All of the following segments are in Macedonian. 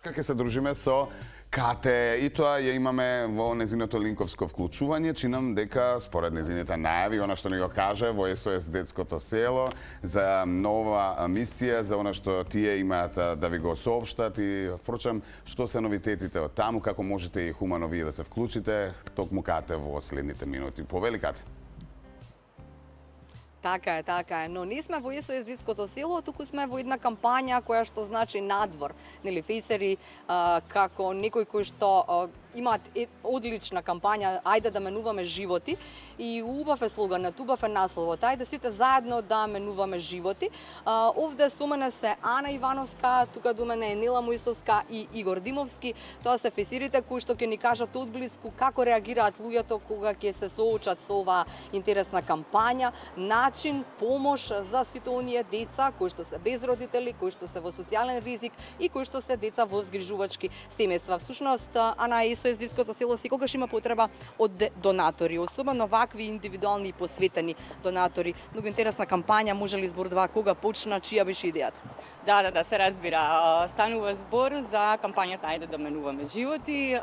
Ќе се дружиме со Кате и тоа ја имаме во незиното линковско вклучување. Чинам дека според незините најави, она што ни го каже во СОС Детското село за нова мисија, за она што тие имаат да ви го соопштат и впрочем што се новитетите од таму, како можете и хумано вие да се вклучите, токму Кате во следните минути. Повели Кате. Така е. Но не сме во СОС Детското село, туку сме во една кампања која што значи надвор. Нели, фейсери како некој кој што имаат одлична кампања, ајде да менуваме животи, и убав е слоганот, убав е насловот, ајде сите заедно да менуваме животи. Овде со мене се Ана Ивановска, тука до мене е Нела Мојсовска и Игор Димовски. Тоа се фейсерите кои што ќе ни кажат одблиску како реагираат луѓето кога ќе се соочат со оваа интересна кампања, начин, помош за сите оние деца кои што се без родители, кои што се во социјален ризик и кои што се деца во згрижувачки семејства. Всушност, Ана, СОС Детското село секогаш има потреба од донатори, особено вакви индивидуални и посветени донатори. Многу интересна кампања, може ли збор кога почна, чија беше идејата? Да, се разбира. Станува збор за кампањата Ајде да менуваме животи,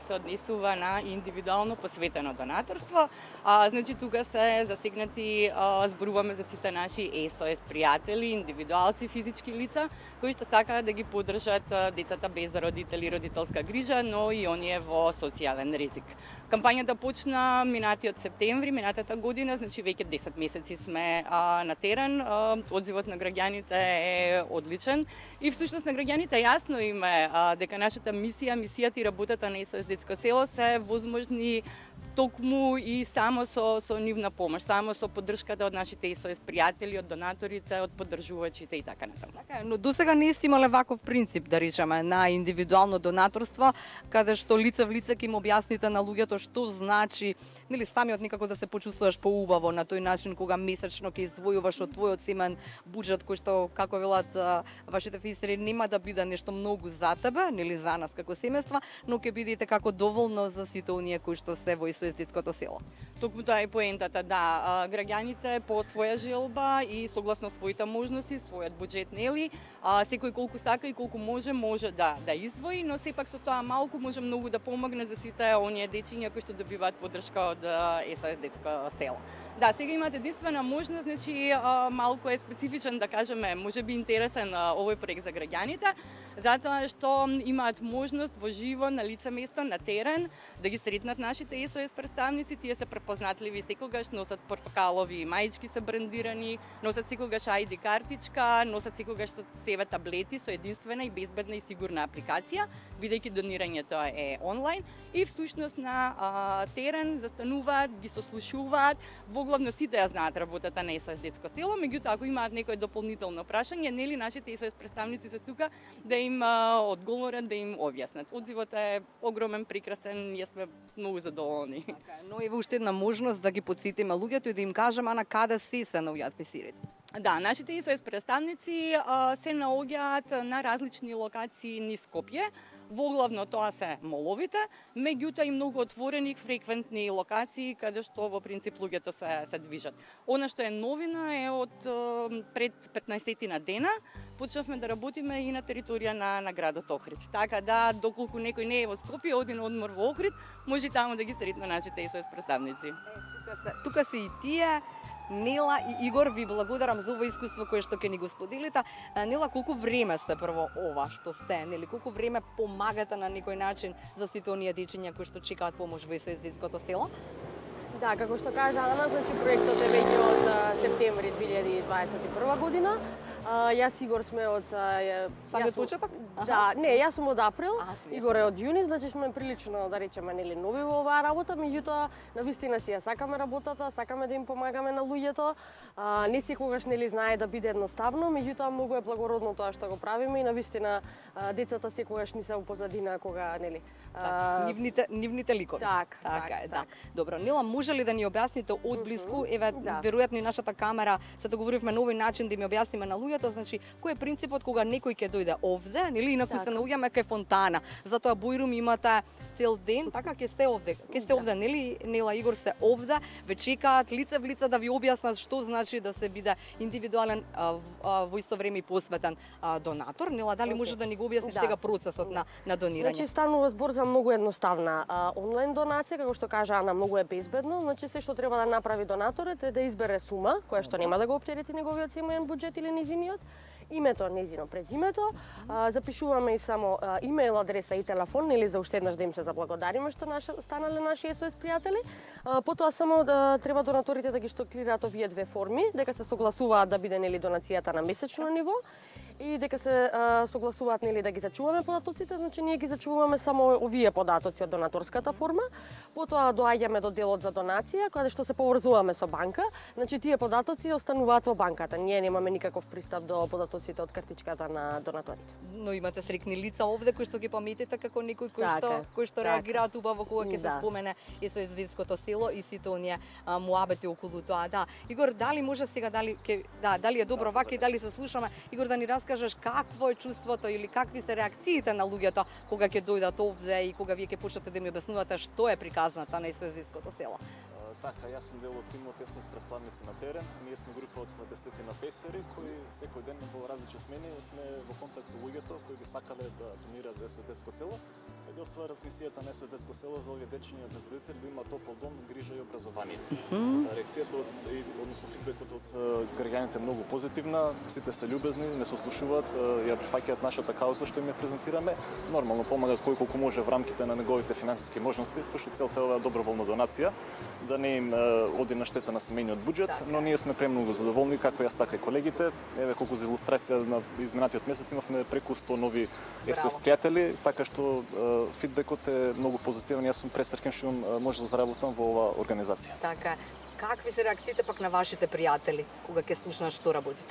се однесува на индивидуално посветено донаторство. Значи, тука се засегнати, зборуваме за сите наши СОС пријатели, индивидуалци, физички лица, кои што сакаат да ги поддржат децата без родители, родителска грижа, но и оние во социјален ризик. Кампањата почна минатиот септември, минатата година, значи веќе 10 месеци сме на терен. Одзивот на граѓаните е одличен и всушност на граѓаните јасно им е дека нашата мисијата и работата на СОС Детско село се возможни токму и само со нивна помош, само со поддршката од нашите СОС пријатели, од донаторите, од поддржувачите и така натаму. Така, но досега не сте имале ваков принцип, да речеме, на индивидуално донаторство, каде што лице в лице ќе им објасните на луѓето што значи, нели, самиот некако да се почувствуваш поубаво на тој начин кога месечно ќе издвојуваш од твојот семен буџет, кој што, како велат вашите фейсери, нема да биде нешто многу за тебе, нели, за нас како семејства, но ќе бидете како доволно за сите оние кои што се во СОС Детското село. Токму тоа е поентата, да. Граѓаните по своја желба и согласно своите можности, својот буџет, нели, секој колку сака и колку може да издвои, но сепак со тоа малку може многу да помогне за сите оние дечиња кои што добиваат поддршка од СОС Детско село. Да, сега имате единствена можност, значи малку е специфичен, да кажеме, можеби интересен овој проект за граѓаните, затоа што имаат можност во живо, на лице место, на терен, да ги сретнат нашите СОС представници. Тие се препознатливи секогаш, носат портокалови мајчки се брендирани, носат секогаш ID картичка, носат секогаш со себе таблети со единствена и безбедна и сигурна апликација, бидејќи донирањето е онлайн и всушност на терен застануваат, ги сослушуваат. Воглавно сите ја знаат работата на СОС Детско село, меѓутоа ако имаат некој дополнително прашање, нели нашите СОС представници се тука да им одговорат, да им објаснат. Одзивот е огромен, прекрасен, јас сме многу задоволни. Така, но еве уште една можност да ги потсетиме луѓето и да им кажеме на каде се наоѓаат фейсерите. Да, нашите СОС представници се наоѓаат на различни локации низ Скопје. Воглавно тоа се моловите, меѓутоа и многу отворени фреквентни локации каде што во принцип луѓето се движат. Она што е новина е од пред 15 дена почнавме да работиме и на територија на градот Охрид. Така да, доколку некој не е во Скопје, оди на одмор во Охрид, може таму да ги сретне нашите СОС представници. Тука се и тие. Нела и Игор, ви благодарам за ова искуство кое што ќе ни го споделите. Нела, колку време сте прво ова што сте, нели, колку време помагате на некој начин за сите оние дечиња кои што чекаат помош во СОС Детското село? Да, како што кажа Ана, значи проектот е веќе од септември 2021 година. Јас Игор сме од самиот почеток? Да, не, јас сум од април, Игор е од јуни, значи сме прилично, да речеме, нели, нови во оваа работа, меѓутоа навистина си ја сакаме работата, сакаме да им помагаме на луѓето. Не секогаш, нели, знае да биде едноставно, меѓутоа многу е благородно тоа што го правиме и навистина децата секогаш ни се упозадина кога, нели, нивните ликови. Така е, да. Добро, Нела, може ли да ни објасните одблиску, еве, веројатно и нашата камера, се договоривме на овој начин да им објасниме на луѓето луѓето, значи кој е принципот кога некој ќе дојде овде, нели инаку се наоѓаме кај фонтана. Затоа Бојрум имате цел ден, така ќе сте овде, нели Нела Игор сте овде, ве чекаат лице в лице да ви објаснат што значи да се биде индивидуален во исто време и посветен донатор. Нела, дали може да ни го објасниш сега процесот на донирање? Значи станува збор за многу едноставна онлайн донација, како што кажа Ана, многу е безбедно. Значи се што треба да направи донаторот е да избере сума која што нема да го оптерети неговиот семеен буџет или незиниот, името, незино презимето, запишуваме и само имейл адреса и телефон, или за уште еднаш да им се заблагодариме што станале наши SOS пријатели. Потоа само треба донаторите да ги штоклираат овие две форми, дека се согласуваат да биде нели донацијата на месечно ниво и дека се согласуваат нели да ги зачуваме податоците, значи ние ги зачуваме само овие податоци од донаторската форма. Потоа доаѓаме до делот за донација, каде што се поврзуваме со банка. Значи тие податоци остануваат во банката. Ние немаме никаков пристап до податоците од картичката на донаторите. Но имате срекни лица овде кои што ги паметите како некој кој што реагираат убаво кога ќе се спомене SOS детското село и сите оние муабети околу тоа. Да. Игор, дали може сега дали е добро вака и дали се слушаме, Игор, да ни раскажеш какво е чувството или какви се реакциите на луѓето кога ќе дојдат овде и кога вие ќе почнете да ми објаснувате што е приказната на SOS детското село. Така, јас сум дел од тимот SOS представници на терен. Ние сме група од 10 фесери кои секој ден во различни смени сме во контакт со луѓето кои би сакале да донираат за SOS детско село и да остварат мисијата на SOS детско село за овие дечиња без родители да имаат топол дом, грижа и образование. Реакцијата односно фидбекот од граѓаните е многу позитивна, сите се љубезни, не се ослушуваат, ја прифаќаат нашата кауза што им ја презентираме. Нормално помага кој колку може во рамките на неговите финансиски можности, пошто целта е оваа доброволна донација, да не им оди на штета на семејниот буџет, но ние сме премногу задоволни, како јас така и колегите. Еве колку за илустрација на изминатиот месец имавме преку 100 нови SOS пријатели, така што фидбекот е многу позитивен. Јас сум пресреќен што може да заработам во оваа организација. Така, какви се реакциите пак на вашите пријатели кога ќе слушнат што работите?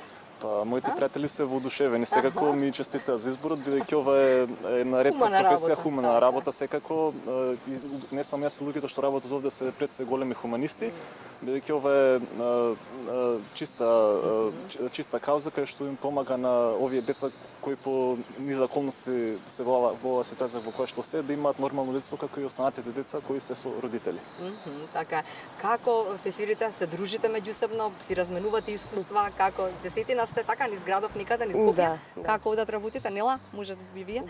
Моите пријатели се воодушевени секако, ми честитаат за изборот, бидејќи ова е една ретка професија, хумана работа секако. Не само јас и луѓето што работат овде се пред се големи хуманисти, бидејќи ова е чиста кауза кај што им помага на овие деца кои по низа околности се во оваа ситуација во која што се да имаат нормално детство како и останатите деца кои се со родители. Така, како фесирите се дружите меѓусебно, си разменувате искуства, како десетина сте така низ градов никаде низ Скопје, како одат работите, Нела, може би вие?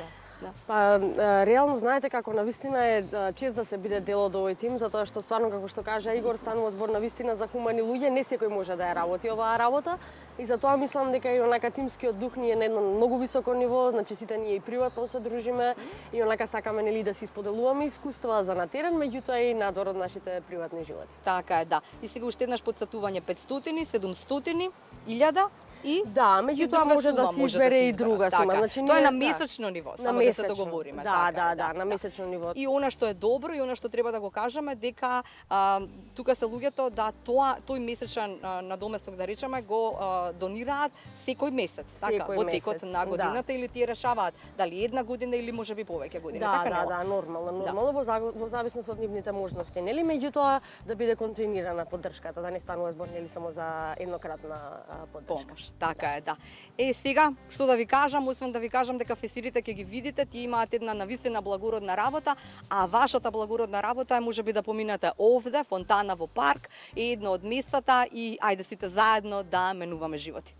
Па реално знаете како навистина е чест да се биде дел од овој тим, затоа што стварно како што кажа Игор станува збор навистина за хумани луѓе, не секој може да ја работи оваа работа и затоа мислам дека и онака тимскиот дух ни е на едно многу високо ниво, значи сите ние и приватно се дружиме и онака сакаме нели да си споделуваме искуства за на терен, меѓутоа и надвор од нашите приватни животи. Така е, да. И сега уште еднаш потсетување 500, 700, 1000 и меѓутоа може да се избере и друга сума. Значи тоа е на месечно ниво, само да се договориме. Да, на месечно ниво. И она што е добро и она што треба да го кажеме дека тука се луѓето да тој месечен надоместок да речеме го донираат секој месец, така, во текот на годината или тие решаваат дали една година или можеби повеќе години, така? Да, нормално во зависност од нивните можности, нели? Меѓутоа да биде континуирана поддршката, да не станува збор нели само за еднократна поддршка. Така е, да. Сега, што да ви кажам, освен да ви кажам дека фесирите ќе ги видите, тие имаат една навистина благородна работа, а вашата благородна работа е можеби да поминете овде, фонтана во парк, едно од местата и ајде сите заедно да менуваме животи.